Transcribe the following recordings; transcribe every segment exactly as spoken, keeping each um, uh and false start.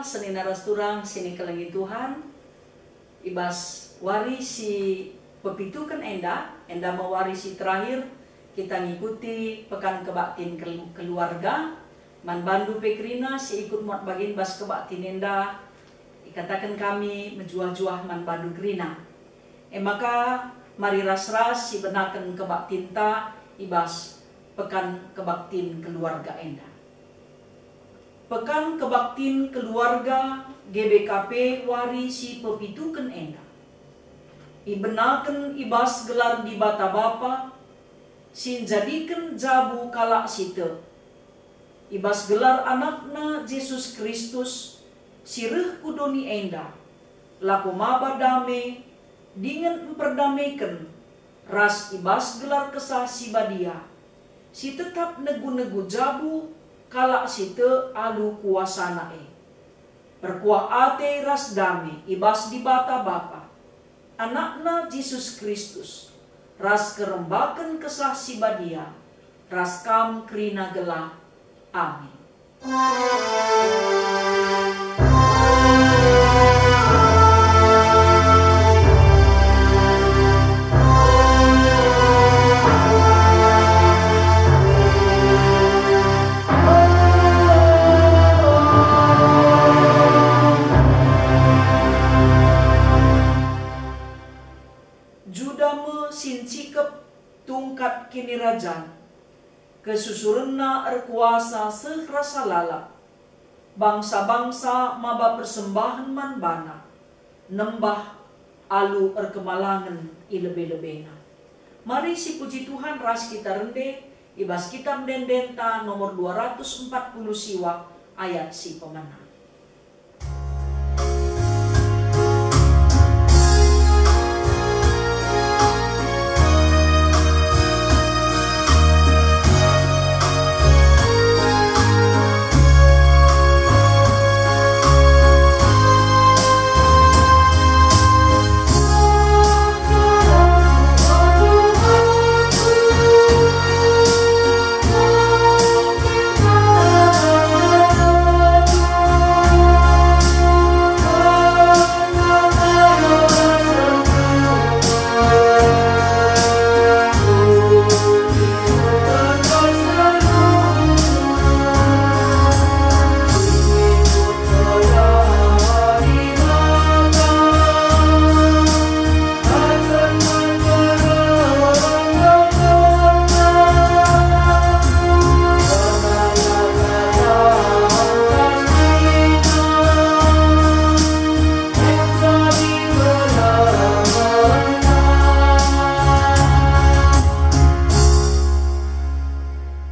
Senina ras turang si nikelengi Tuhan, i bas wari si pepituken enda, enda me wari si terakhir kita ngikuti Pekan Kebaktin Kel-, Keluarga. Man bandu pe kerina si ikut muat bagin bas kebaktin enda, ikataken kami mejuah-juah man bandu kerina. E maka, mari ras-ras sibenaken kebaktinta i bas Pekan Kebaktin Keluarga enda. Pekan Kebaktin Keluarga G B K P wari si pepituken enda ibenaken i bas gelar Dibata Bapa, si njadiken jabu kalak si tek. I bas gelar AnakNa Jesus Kristus, si reh ku doni enda, lako maba dame, dingen mperdameken, ras i bas gelar Kesah Si Badia, si tetap negu-negu jabu kalak si tek alu kuasaNa e. Perkuah ate ras dame i bas Dibata Bapa, AnakNa Jesus Kristus, ras kerembaken Kesah Si Badia, ras kam kerina gelah. Amin. Juda me si ncikep tungkat kinirajan, kesusurenna erkuasa seh rasa lalap. Bangsa-bangsa maba persembahen man bana, nembah alu erkemalangen i lebe-lebena. Mari sipuji Tuhan ras kita rende i bas Kitab Ende-endenta nomor dua ratus empat puluh siwa ayat si pemena.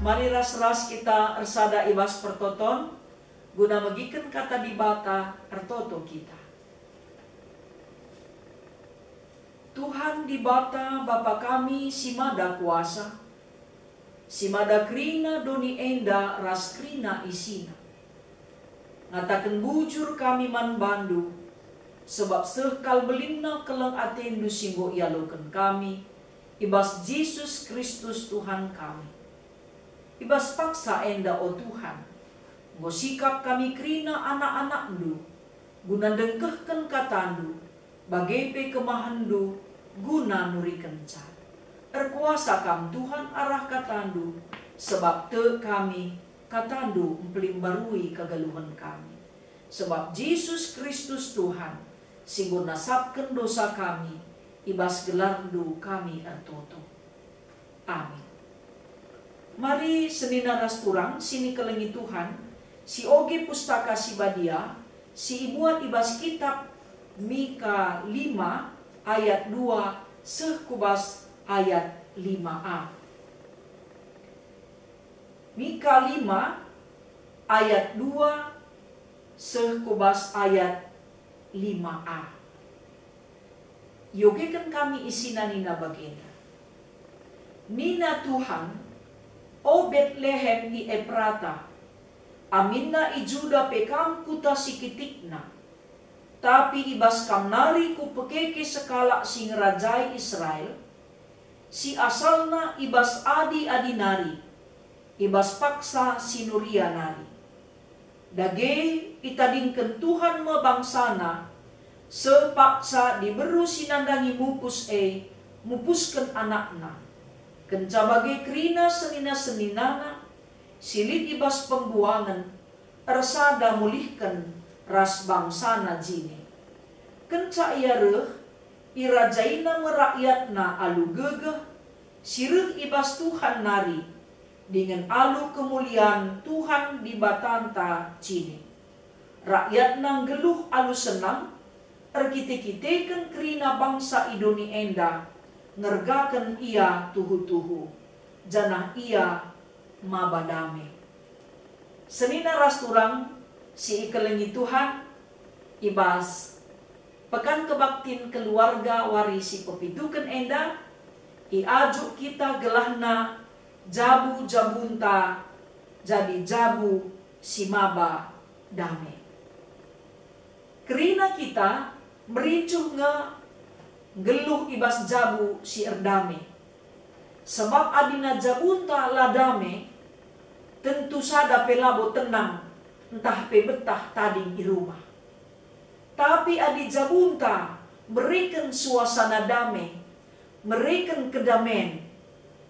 Mari ras-ras kita ersada i bas pertoton, guna megiken Kata Dibata ertoto kita. Tuhan Dibata, Bapa kami si Mada Kuasa, si mada kerina doni enda ras kerina isina. Ngataken bujur kami man bandu, sebab seh kal belinna keleng atendu si enggo ialoken kami, i bas Jesus Kristus Tuhan kami. I bas paksa enda, o Tuhan, enggo sikap kami kerina anak-anakndu, guna ndengkehken katandu, bage pe kemahenndu guna nurikenca. Erkuasa kam, Tuhan, arah katandu, sebab tek kami, katandu mpelimbarui kegeluhen kami. Sebab Jesus Kristus Tuhan, si enggo nasapken dosa kami, i bas gelarndu kami ertoto. Amin. Mari senina ras turang si nikelengi Tuhan, sioge Pustaka Si Badia, si ibuat i bas kitab Mika lima ayat dua seh ku bas ayat lima a. Mika lima ayat dua seh ku bas ayat lima a. Iogeken kami isina nina bagenda. Nina Tuhan, "O Betlehem i Eprata, aminna i Juda pe kam kuta si kitikna, tapi i bas kam nari Kupekeke sekalak si ngerajai Israel, si asalna i bas adi-adi nari, i bas paksa si nuria nari." Dage itadingken Tuhan me bangsaNa, seh paksa diberu si nandangi mupus e mupusken anakna. Kenca bage kerina senina-seninana si lit i bas pembuangen ersada mulihken ras bangsaNa jine. Kenca Ia reh, irajaina me rakyatNa alu gegeh si reh i bas Tuhan nari, dingen alu kemulian Tuhan Dibatanta jine. RakyatNa nggeluh alu senang, erkite-kiteken kerina bangsa i doni enda ngergaken Ia tuhu-tuhu, janah Ia maba dame. Senina ras turang si ikelengi Tuhan, i bas Pekan Kebaktin Keluarga wari si pepituken enda, iajuk kita gelahna jabu-jabunta jadi jabu si maba dame. Kerina kita mericuh nge nggeluh i bas jabu si erdame. Sebab adina jabunta la dame, tentu sada pe labo tenang ntah pe betah tading i rumah. Tapi adi jabunta mereken suasana dame, mereken kedamen,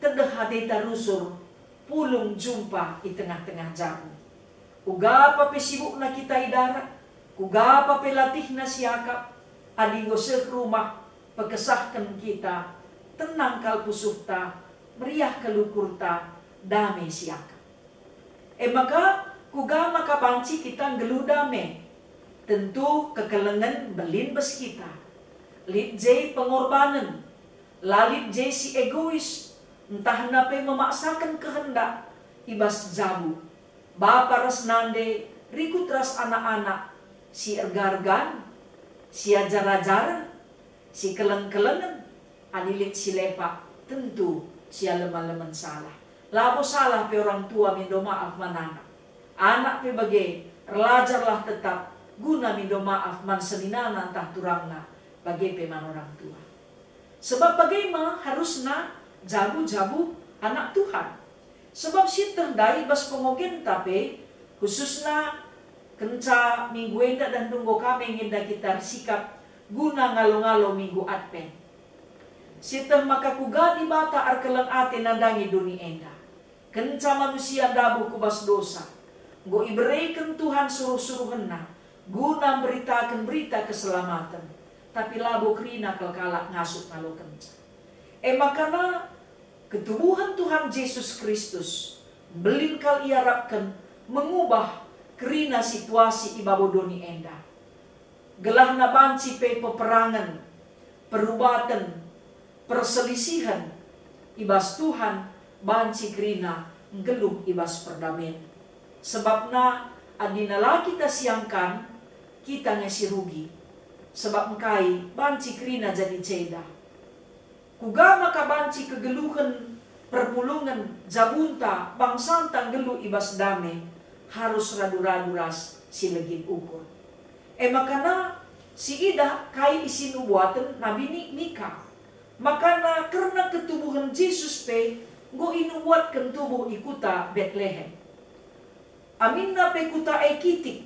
tedeh ateta rusur, pulung jumpa i tengah-tengah jabu. Uga pa pe sibukna kita i darat, kuga pa pe latihna siakap, adi enggo seh rumah, pekesahken kita, tenang kal pusuhta, meriah kal ukurta, dame siakap. E maka, kuga maka banci kita nggeluh dame? Tentu kekelengen mbelin bas kita. Lit je pengorbanen, la lit je si egois, ntah na pe memaksaken kehendak i bas jabu. Bapa ras nande, rikut ras anak-anak, si erga-ergan, si ajar-ajaren, si keleng-kelengen, adi lit si lepak, tentu si alem-alemen salah. Labo salah pe orang tua mindo maaf man anak. Anak pe bage, erlajarlah tetap guna mindo maaf man seninana ntah turangna, bage pe man orang tua. Sebab bage me harusna jabu-jabu anak Tuhan. Sebab sieteh ndai bas pengogenta pe, khususna kenca minggu enda dan enggo kami nginda kita ersikap guna ngalo-ngalo minggu Advent. Sieteh maka kuga Dibata erkeleng ate nandangi doni enda. Kenca manusia ndabuh ku bas dosa, enggo ibereken Tuhan suruh-suruhenNa guna mberitaken berita keselamaten, tapi labo kerina kal kalak ngasup ngalokenca. E maka ketubuhen Tuhan Jesus Kristus mbelin kal iarapken mengubah kerina situasi i babo doni enda. Gelahna banci pe peperangen, perubaten, perselisihen i bas Tuhan banci kerina nggeluh i bas perdamen. Sebabna adina la kita siangkan, kita nge si rugi. Sebab engkai banci kerina jadi ceda. Kuga maka banci kegeluhen, perpulungen, jabunta, bangsanta nggeluh i bas dame, harus radu-radu ras si legit ukur. E maka sidah kai isi nubuaten Nabi ni-, Mika. Makana kerna ketubuhen Jesus pe enggo inubuatken tubuh i kuta Betlehem. Aminna pe kuta e kitik,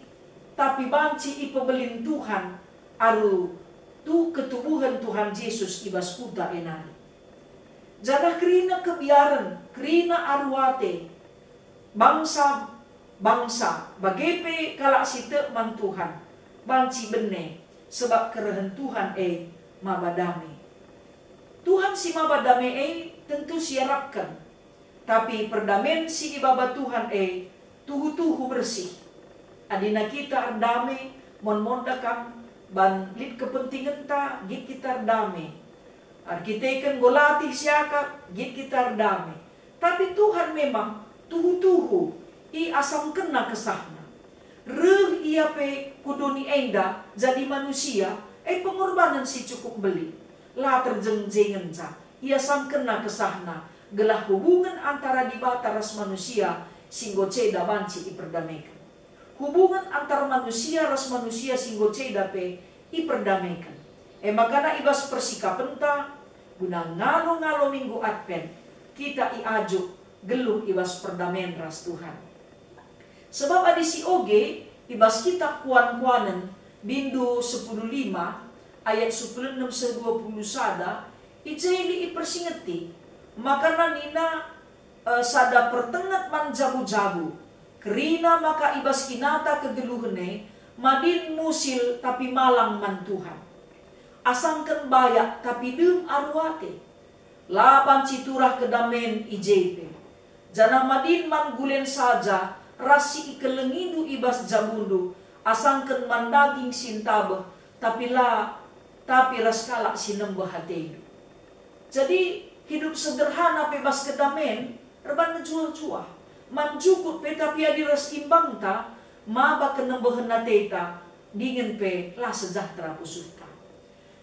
tapi banci ipebelin Tuhan alu tu ketubuhen Tuhan Jesus i bas kuta e nari. Janah kerina kebiaren, kerina aru ate, bangsa-bangsa, bage pe kalak si tek man Tuhan, banci bene, sebab kerehen Tuhan e maba dame. Tuhan si maba dame e tentu siarapken. Tapi perdamen si ibaba Tuhan e tuhu-tuhu bersih. Adina kita erdame, mon-mon da kam ban lit kepentingenta, git kita erdame. Erkiteken enggo latih siakap, git kita erdame. Tapi Tuhan memang tuhu-tuhu iasamkenNa kesahNa. Reh Ia pe ku doni enda jadi manusia, e pengorbanen si cukup mbelin. La terjeng-jengenca, iasamkenNa kesahNa, gelah hubungen antara Dibata ras manusia si enggo ceda banci iperdameken. Hubungen antar manusia ras manusia si enggo ceda pe iperdameken. E maka i bas persikapenta guna ngalo-ngalo Minggu Advent, kita iajuk geluh i bas perdamen ras Tuhan. Sebab adi si oge, I bas kitab Kuan-kuanen, bindu sepuluh lima, ayat sepuluh enem seh dua puluh sada, i je lit ipersingeti, maka nina, eh, sada pertenget man jabu-jabu, kerina maka i bas kinata kegeluhen e, madin musil tapi malang man Tuhan. Asangken bayak tapi dem aru ate. La banci turah kedamen i je pe. Janah madin man gulen saja ras si ikelengindu i bas jabundu, asangken man daging si ntabeh, tapi la, tapi ras kalak si nembeh atendu. Jadi, hidup sederhana pe bas kedamen erban mejuah-juah. Man jukut pe tapi adi ras imbangta, maba kenembehen ateta, dingen pe la sejahtera pusuhta.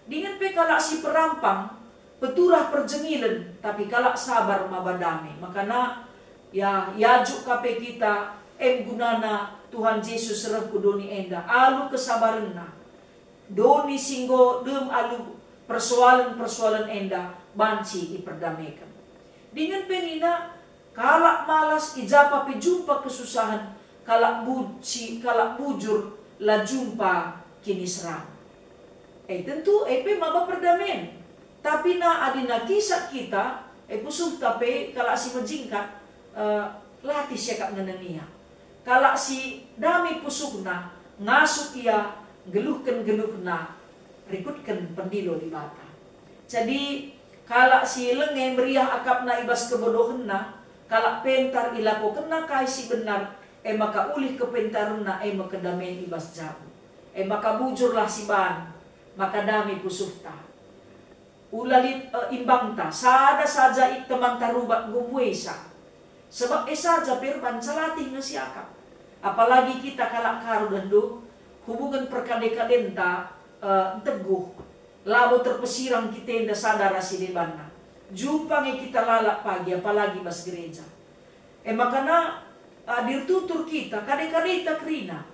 Dingen pe kalak si perampang, peturah perjengilen, tapi kalak sabar maba dame. Makana, ya, iajuk ka pe kita, em gunana Tuhan Jesus reh ku doni enda, alu kesabarenNa. Doni si enggo dem alu persoalen-persoalen enda banci iperdameken. Dingen pe nina, kalak malas i ja pe jumpa kesusahen, kalak bu-, si, kalak bujur la jumpa kiniseran. E tentu, e pe maba perdamen. Tapi na adi na kisah kita, e pusuhta pe kalak si mejingkat, eh, latih siakap ngenenia. Kalak si dame pusuhna, ngasup ia, nggeluhken geluhna, rikutken pendilo Dibata. Jadi, kalak si lenge meriah akapna i bas kebodohenna, kalak pentar ilakokenna kai si benar, e maka ulih kepentarenna e me kedamen i bas jabu. E maka bujurlah siban, maka dame pusuhta. Ula lit, e, imbangta, sada saja i temanta rubat enggo mbuesa. Sebab e saja pe erban latih nge siakap. Apalagi kita kalak Karo, dage hubungen perkade-kadenta, e, nteguh. Labo terpesirang kita enda sada ras si debanna. Jumpa nge kita lalap pagi, apalagi bas gereja. E makana, e, adi ertutur kita, kade-kadeta kerina.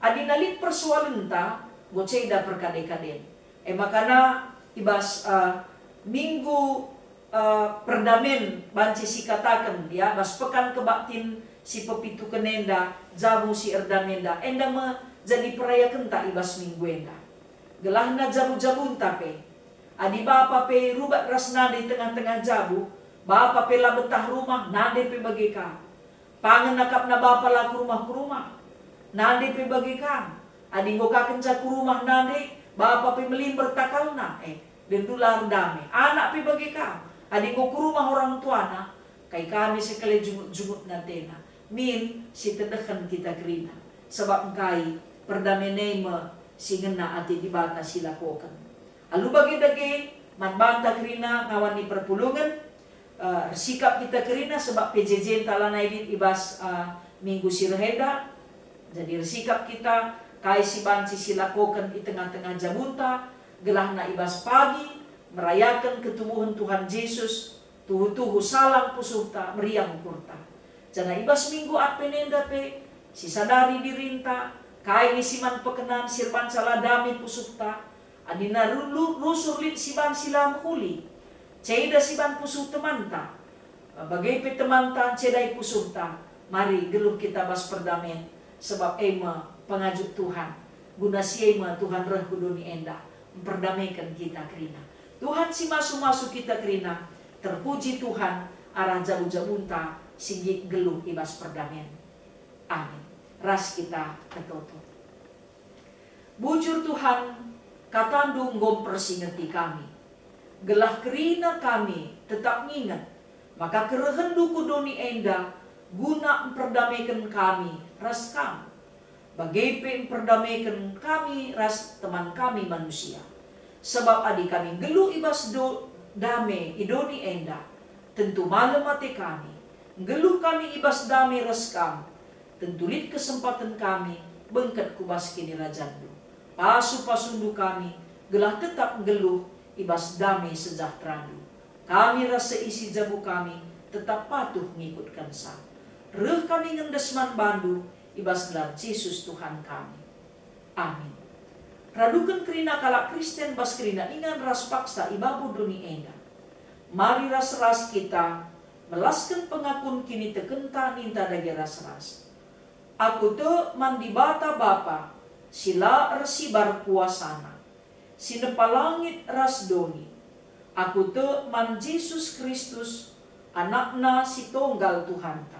Adi na lit persoalenta, enggo ceda perkade-kaden. E makana i bas, eh, minggu, eh, perdamen banci sikataken, ya, bas pekan kebaktin si pepituken enda, jabu si erdame enda, enda me jadi perayakenta i bas minggu enda. Gelahna jabu-jabunta pe. Adi bapa pe rubat ras nande i tengah-tengah jabu, bapa pe la betah rumah, nande pe bage ka. Pangen akapna bapa la ku rumah-ku rumah. Nande pe bage kam. Adi enggo ka kenca ku rumah nande, bapa pe melimber takalna, e, dendu la erdame. Anak pe bage kam. Adi enggo ku rumah orang tuana, kai kami sekali jungut-jungutna atena. Min, si tedehen kita kerina. Sebab engkai perdamen e me si ngena ate Dibata silakoken. Alu bage dage, man banta kerina ngawan ni perpulungen, eh, ersikap kita kerina sebab P J J-nta lanai lit i bas, eh, minggu si reh enda. Jadi ersikap kita kai si banci silakoken i tengah-tengah jabunta, gelahna i bas pagi merayaken ketubuhen Tuhan Jesus, tuhu-tuhu salang pusuhta, meriah ukurta. Janah i bas minggu Advent enda pe, sisadari dirinta, kai nge si man pekenan si erbanca la dame pusuhta, adina ru-, lu-, rusur lit siban si la mehuli, ceda siban pusuh temanta, bage pe temanta ncedai pusuhta, mari geluh kita bas perdamen, sebab e me pengajuk Tuhan, guna si e me Tuhan reh ku doni enda, mperdameken kita kerina. Tuhan si masu-masu kita kerina, terpuji Tuhan arah jabu-jabunta si nggit geluh i bas perdamen. Amin. Ras kita ertoto. Bujur Tuhan, kataNdu enggo mpersingeti kami, gelah kerina kami tetap nginget maka kerehenNdu ku doni enda guna mperdameken kami ras Kam, bage pe mperdameken kami ras teman kami manusia. Sebab adi kami nggeluh i bas do-, dame i doni enda, tentu malem ate kami. Nggeluh kami i bas dame ras Kam, tentu lit kesempaten kami bengket ku bas KinirajanNdu. Pasu-pasuNdu kami, gelah tetap nggeluh i bas dame sejahterAndu. Kami ras seisi jabu kami tetap patuh ngikutkenca. Reh kami ngendes man baNdu i bas gelar Jesus Tuhan kami. Amin. Raduken kerina kalak Kristen bas kerina ingan ras paksa i babo doni enda. Mari ras-ras kita melasken pengakun kinitekenta ninta dage ras-ras. Aku tek man Dibata Bapa, si la ersibar kuasaNa, si nepa langit ras doni. Aku tek man Jesus Kristus, AnakNa si tonggal Tuhanta,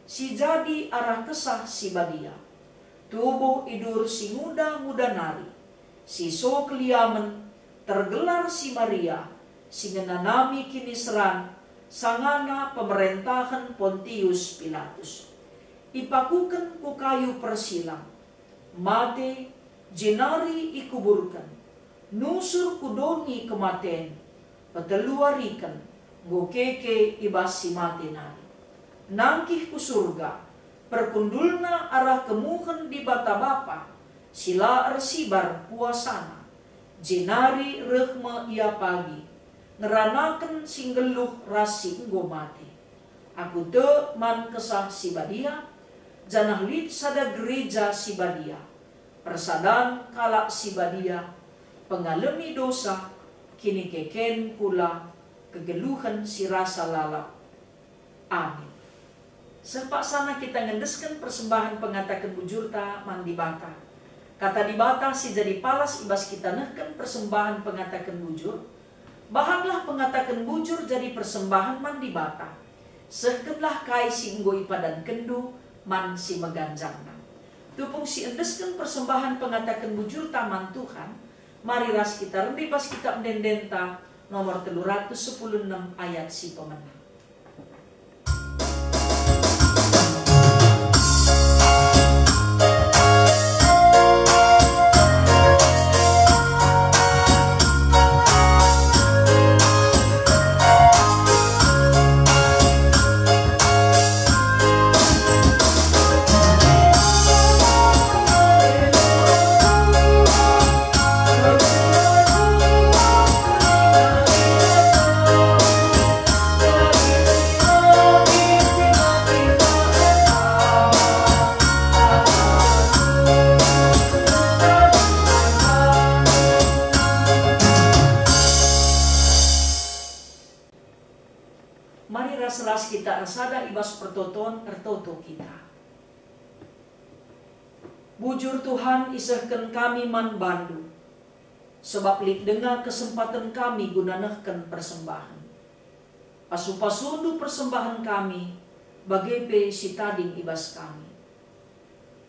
si jadi arah Kesah Si Badia, tubuh idur si nguda-nguda nari, si so keliamen, tergelar si Maria, si ngenanami kiniseran, sangana pemerentahen Pontius Pilatus. Ipakuken ku kayu persilang, mate, jenari ikuburken, nusur ku doni kematen, peteluariken enggo keke i bas si mate nari. Nangkih ku Surga, perkundulna arah kemuhen Dibata Bapa, si la ersibar kuasaNa, jenari reh me Ia pagi, ngeranaken si nggeluh ras si enggo mate. Aku tek man Kesah Si Badia, janah lit sada gereja si badia, persadan kalak si badia, pengalemi dosa, kinikeken kula, kegeluhen si rasa lalap. Amin. Seh paksana kita ngendesken persembahen pengataken bujurta man Dibata. Kata Dibata si jadi palas i bas kita nehken persembahen pengataken bujur. Bahanlah pengataken bujur jadi persembahen man Dibata. Sehkenlah kai si enggo ipadankenndu man si meganjangna. Tupung si endesken persembahen pengataken bujurta man Tuhan, mari ras kita rende bas kitab ende-endenta nomor telu ratus sepuluh enem ayat si pemena. Mari ras-ras kita ersada i bas pertoton, ertoto kita. Bujur Tuhan, isehken kami man bandu, sebab lit denga kesempaten kami guna nehken persembahen. Pasu-pasundu persembahen kami, bage pe si tading i bas kami.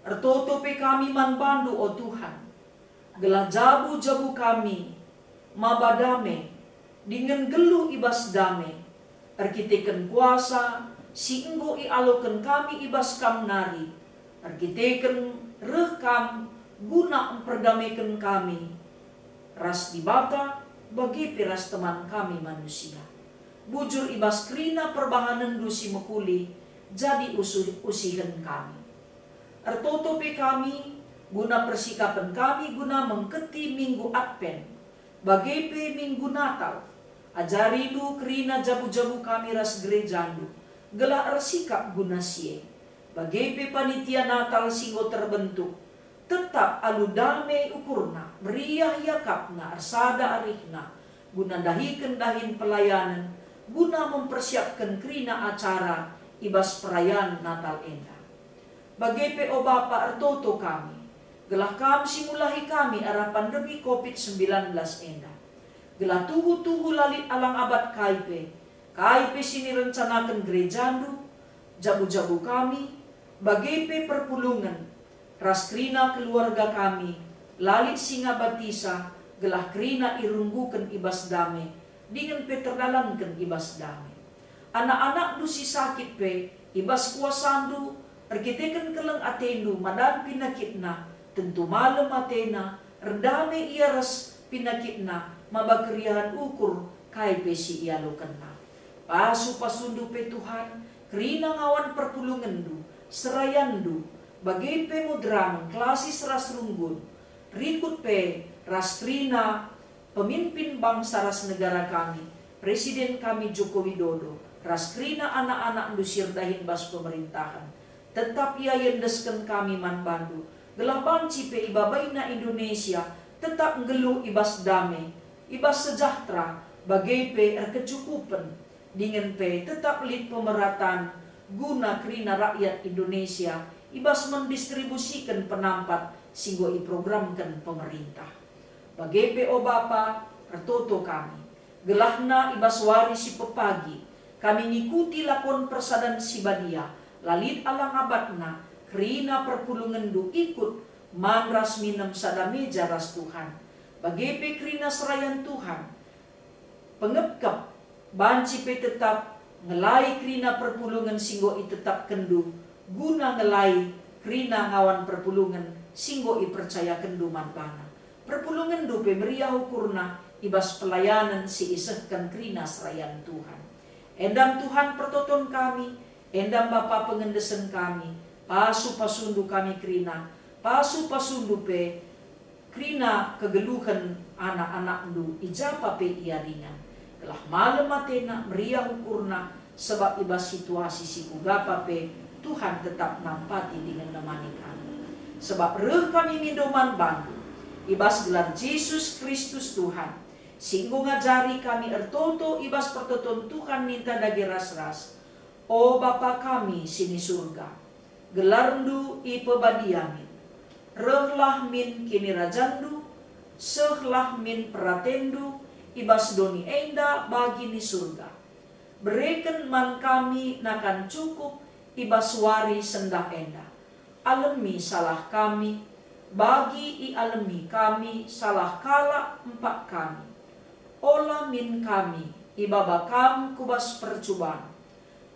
Ertoto pe kami man bandu, o Tuhan, gelah jabu-jabu kami maba dame, dingen nggeluh i bas dame, erkiteken kuasa si enggo ialoken kami i bas Kam nari, erkiteken reh Kam guna mperdameken kami ras Dibata, bage pe ras teman kami manusia. Bujur i bas kerina perbahanenNdu si mehuli jadi usuh-, usihen kami. Ertoto pe kami, guna persikapen kami guna mengketi Minggu Adven, bage pe Minggu Natal. AjariNdu kerina jabu-jabu kami ras gerejaNdu, gelah ersikap guna si e. Bage pe panitia Natal si enggo terbentuk, tetap alu dame ukurna, meriah iakapna, ersada arihna, guna ndahiken dahin pelayanen, guna mempersiapken kerina acara i bas perayaan Natal enda. Bage pe, o Bapa, ertoto kami, gelah Kam si mulahi kami arah pandemi covid sembilan belas enda. Gelah tuhu-tuhu la lit alang abat kai pe, kai pe si nirencanaken gerejaNdu, jabu-jabu kami, bage pe perpulungen, ras kerina keluarga kami, la lit si ngabatisa, gelah kerina irungguken i bas dame, dingen pe terdalanken i bas dame. Anak-anakNdu si sakit pe, i bas kuasaNdu, erkiteken keleng ateNdu madan pinakitna, tentu malem atena, erdame ia ras pinakitna, maba keriahen ukur kai pe si ialokenna. Pasu-pasuNdu pe, Tuhan, kerina ngawan perpulungenNdu, serayanNdu, bage pe moderamen, klasis ras runggun, rikut pe ras kerina pemimpin bangsa ras negara kami, Presiden kami Joko Widodo, ras kerina anak-anakNdu si erdahin bas pemerintahen. Tetap ia iendesken kami man bandu, gelah banci pe ibabaina Indonesia tetap nggeluh i bas dame, i bas sejahtera, bage pe erkecukupen, dingen pe tetap lit pemerataan guna kerina rakyat Indonesia i bas mendistribusiken penampat si enggo iprogramken pemerintah. Bage pe, o Bapa, ertoto kami, gelahna i bas wari si pepagi kami ngikuti lakon persadan si badia, la lit alang abatna, kerina perpulungenNdu ikut man ras minem sada meja ras Tuhan. Bage pe kerina serayan Tuhan, pengepkep, banci pe tetap ngelai kerina perpulungen si enggo itetapkenNdu, guna ngelai kerina ngawan perpulungen si enggo ipercayakenNdu man bana. PerpulungenNdu pe meriah ukurna i bas pelayanen si isehken kerina serayan Tuhan. Enda me Tuhan pertoton kami, enda me Bapa pengendesen kami, pasu-pasuNdu kami kerina, pasu-pasuNdu pe kerina kegeluhen anak-anakNdu i ja pa pe ia ringan, gelah malem atena, meriah ukurna, sebab i bas situasi si kuga pa pe Tuhan tetap nampati dingen nemani kami. Sebab reh kami mindo man bandu, i bas gelar Jesus Kristus Tuhan, si enggo ngajari kami ertoto i bas pertoton Tuhan ninta dage ras-ras, O Bapa kami si ni Surga, gelarNdu ipebadia min. Rehlah min kinirajanNdu, sehlah min peratenNdu i bas doni enda bagi ni Surga. Bereken man kami nakan cukup i bas wari sendah enda. Alemi salah kami, bagi ialemi kami salah kalak empak kami. Ola min kami ibaba Kam ku bas percuban,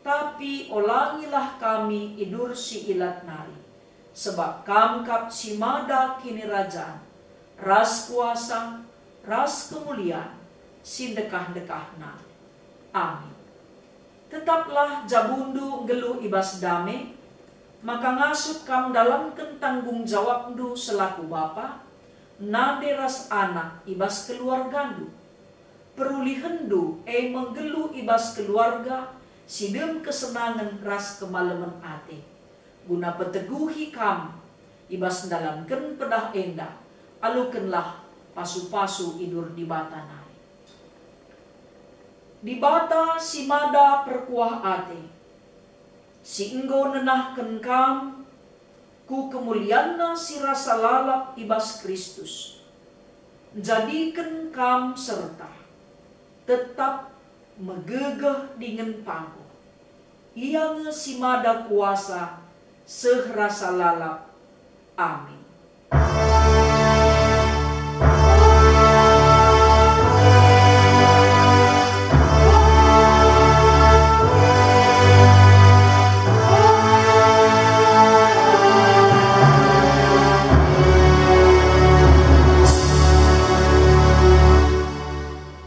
tapi olangilah kami idur si ilat nari, sebab Kam kap si mada kinirajan, ras kuasa, ras kemulian, si ndekah-ndekahna. Amin. Tetaplah jabundu nggeluh i bas dame, maka ngasup kam ndalanken tanggung jawabndu selaku bapa, nande ras anak i bas keluargandu. Perulihenndu e me nggeluh i bas keluarga si dem kesenangen ras kemalemen ate. Guna peteguhi kam i bas ndalanken pedah enda, alukenlah pasu-pasu idur Dibata nari. Dibata si mada perkuah ate, si enggo nenahken kam ku kemulianNa si rasa lalap i bas Kristus, njadiken kam serta tetap megegeh dingen paguh. Ia nge si mada kuasa seh rasa lalap. Amin.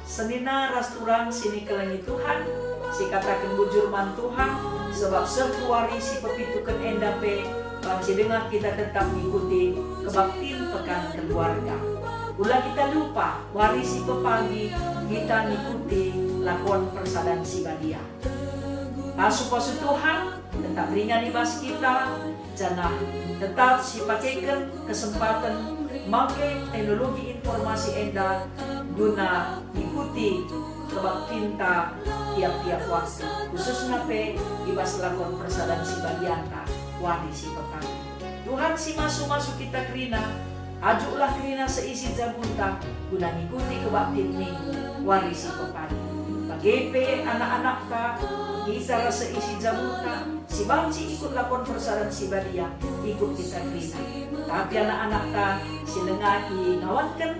Senina ras turang si nikelengi Tuhan, sikataken bujur man Tuhan, sebab seh ku wari si pepituken enda pe banci denga kita tetap ngikuti kebaktin Pekan Keluarga. Ula kita lupa, wari si pepagi kita ngikuti lakon persadan si badia. Pasu-pasu Tuhan tetap ringan i bas kita, janah tetap sipakeken kesempaten make teknologi informasi enda guna ikuti kebaktinta tiap-tiap waktu, khususna pe i bas lakon persadan si badianta wari si pepagi. Tuhan si masu-masu kita kerina, ajuklah kerina seisi jabunta guna ngikuti kebaktin Minggu wari si pepagi. Bage pe anak-anakta, kita ras seisi jabunta, si banci ikut lakon persadan si badia, ikut kita kerina. Tapi anak-anakta si langa ingawanken,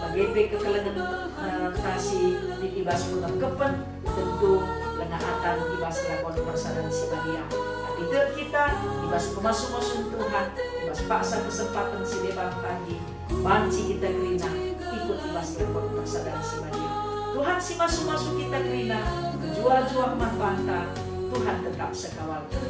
bage pe kekelengen, eh, ta si lit i bas pengepkepen, tentu langa atan i bas lakon persadan si badia. Tapi tek kita i bas pemasu-masun Tuhan, i bas paksa kesempaten si deban pagi, banci kita kerina ikut i bas lakon persadan si badia. Tuhan si masu-masu kita kerina, mejuah-juah man banta, Tuhan tetap sekawalken.